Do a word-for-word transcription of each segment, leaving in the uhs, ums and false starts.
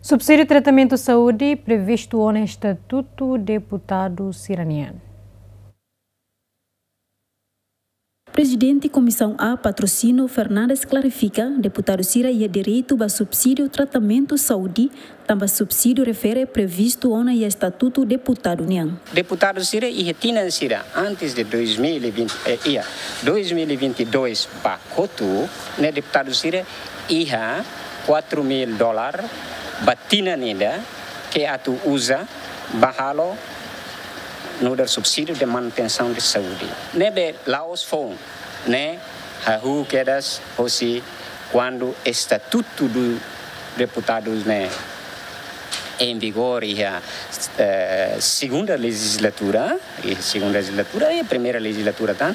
Subsídiu tratamentu saúde previstu ona estatutu deputadu sira-nian. Prezidente Komisaun A, Patrocínio Fernandes, klarifika deputadu sira iha direitu ba subsídiu tratamentu saúde, tanba subsídiu refere previstu ona iha estatutu deputadu nian. Deputadu sira iha tinan sira antes de dois mil e vinte, eh, iha dois mil e vinte e dois ba kotuk, ne'e deputadu sira iha quatro mil dólar ba tinan ida ke atu uza ba halo nu'udar subsídiu de manutensaun de saúde. Ne'ebé la'ós foun, ne'e hahú kedas hosi kuandu estatutu do deputadus ne'e em vigor iha, eh, segunda legislatura, iha segunda legislatura, iha primeira legislatura tan,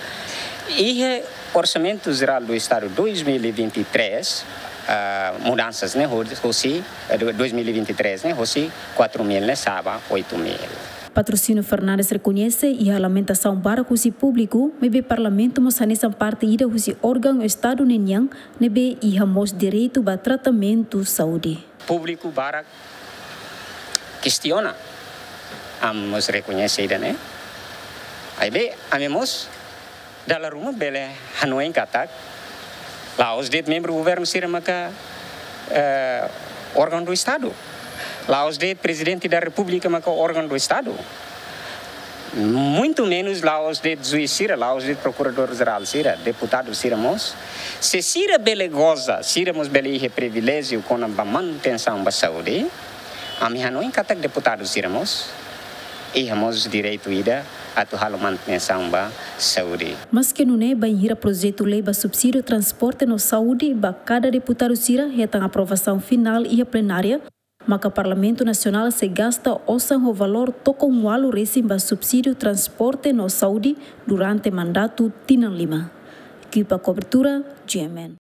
iha Orçamento Geral do Estado dois mil e vinte e três, ah, mudansas ne'e, ho-, hosi, eh, do-, dois mil e vinte e três ne'e, hosi quatro mil ne'e sa'e ba oito mil. Patrocínio Fernandes rekoñese iha lamentasaun barak husi públiku, maibé Parlamentu mós hanesan parte ida husi órgaun Estadu ninian, ne'ebé iha mós direitu ba tratamentu saúde. Públiku barak kestiona, ami mós rekoñese ida-ne'e. Maibé ami mós dala ruma bele hanoin katak la'ós de'it membru governu sira maka, eh, órgaun do Estadu. La'ós de'it Prezidente da Repúblika maka órgaun do Estadu. Muito menos la'ós de'it juís sira, la'ós de'it prokuradór jerál sira, deputadu sira mós. Se sira bele goza, sira mós bele iha priviléjiu kona-ba manutensaun ba saúde, ami hanoin katak deputadu sira mós iha mós direitu ida atu halo manutensaun ba saúde. Maske nune'e, bainhira projetu lei ba subsídiu transporte no saúde ba kada deputadu sira hetan aprovasaun finál iha plenária, maka Parlamentu Nasionál sei gasta osan ho valór tokon ualu resin ba subsídiu transporte no saúde durante mandatu tinan lima. Ekipa kobertura, G M N.